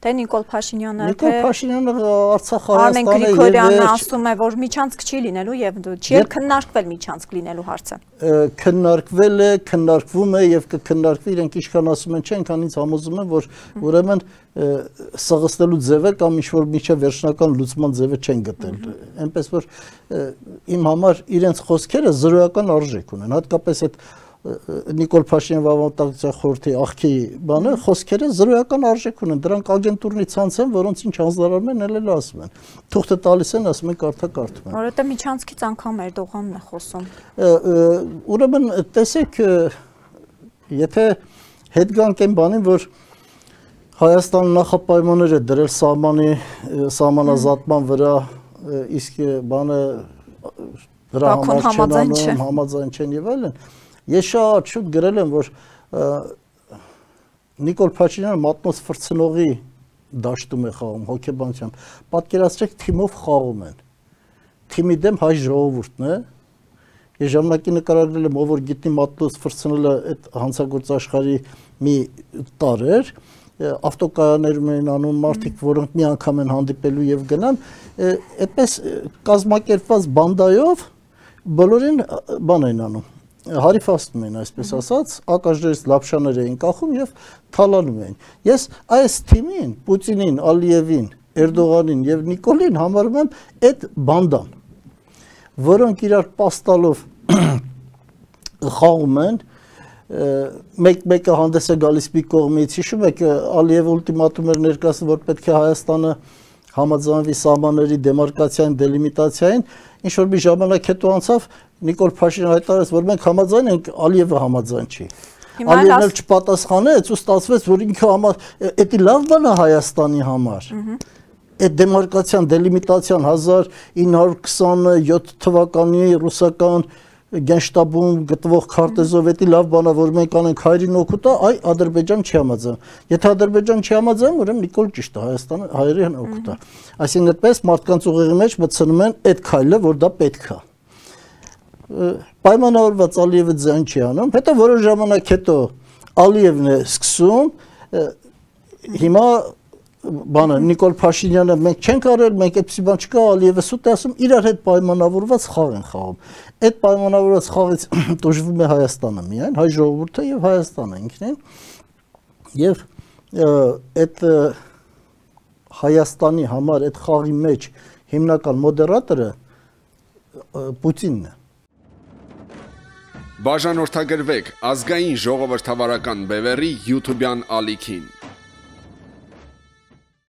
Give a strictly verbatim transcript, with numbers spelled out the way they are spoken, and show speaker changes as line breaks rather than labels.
Թե Նիկոլ Փաշինյանը,
թե Նիկոլ Փաշինյանը Արցախ
Արմեն Գրիգորյանը ասում է, որ միջանցք չի լինելու եւ չի էլ քննարկվել միջանցք լինելու հարցը։
Քննարկվել է, քննարկվում է եւ կքննարկվի, իրենք ինչքան ասում են, չէ, այնքան ինձ համոզում են, որ ուրեմն սղստելու ձևը կամ ինչ-որ միջև վերջնական լուծման ձևը չեն գտել։ Այնպես որ իմ համար իրենց խոսքերը զրոյական արժեք ունեն, հատկապես այդ Նիկոլ Փաշինյանի Վավատակցության խորհրդի աղքի բանը խոսքերը զրոյական արժեք ունեն, դրանք ագենտուրնի ցանց են, որոնց ինչ հանձնարարում են, ելել ասում են։ Թուղթը տալիս են, ասում են կարդա կարդում են։
Որովհետեւ միջանցքից անգամ Էրդողանն է խոսում։
Ուրեմն տեսեք, եթե հետ գանք այն բանին, որ Հայաստանը նախապայմաններ է դրել սահմանի սահմանազատման վրա, իսկ բանը դրա համար չեն անում, համաձայն չեն եւ այլն։ Ես շատ շուտ գրել եմ, որ Նիկոլ Փաշինյանը մատնոց ֆրցնողի դաշտում է խաղում հոգեբանությամբ։ Պատկերացրեք, թիմով խաղում են։ Թիմի դեմ հայ ժողովուրդն է։ Ես ժամանակի նկարագրել եմ, ով որ գիտնի մատնոց ֆրցնելը այդ հանցագործ աշխարհի մի տարր էր, ավտոկայաններում են անում մարդիկ, որոնք մի անգամ են հանդիպելու եւ գնան, այդպես կազմակերպված բանդայով բոլորին բան են անում։ Հարիֆաստում են, այսպես ասած, ակաժներից լապշաներ էին կախում եւ թալանում էին։ Ես այս թիմին, Պուտինին, Ալիևին, Էրդողանին եւ Նիկոլին համարում եմ այդ բանդան, որոնք իրար պաստալով խաղում են, մեկ-մեկը հանդես է գալիս մի կողմից, հիշում եք, Ալիևը ուլտիմատում էր ներկայացնում, որ պետք է Հայաստանը համաձայնվի սահմանների դեմարկացիային, դելիմիտացիային, ինչ որ մի ժամանակ հետո անցավ, Նիկոլ Փաշինյանը հայտարարեց, որ մենք համաձայն ենք, Ալիևը համաձայն չի։ Ալիևն էլ չպատասխանեց ու ստացվեց, որ ինքը համար, դա լավ բան է Հայաստանի համար։ Այդ դեմարկացիան, դելիմիտացիան հազար ինը հարյուր քսաներկու թվականի ռուսական գենշտաբում գտնվող քարտեզով դա լավ բան է, որ մենք անենք հայրին օգուտ է, այ Ադրբեջան չի համաձայն։ Եթե Ադրբեջան չի համաձայն, ուրեմն Նիկոլ ճիշտ է, Հայաստանը հայերին օգուտ է։ Այսինքն այդպես մարդկանց ուղեղի մեջ մտցնում են այդ քայլը, որ դա պետք է։ Պայմանավորված Ալիևը ձայն չի անում, հետո որոշ ժամանակ հետո Ալիևն է սկսում, հիմա բանը Նիկոլ Փաշինյանը մենք չենք արել, մենք այդպիսի բան չկա, Ալիևը սուտ է ասում, իրար հետ պայմանավորված խաղ են խաղում։ Այդ պայմանավորված խաղից տուժվում է Հայաստանը միայն, հայ ժողովուրդը եւ Հայաստանը ինքնին։ Եվ այդ Հայաստանի համար այդ խաղի մեջ հիմնական մոդերատորը Պուտինն է։
Բաժանորդագրվեք ազգային ժողովրդավարական բևեռի YouTube-յան ալիքին։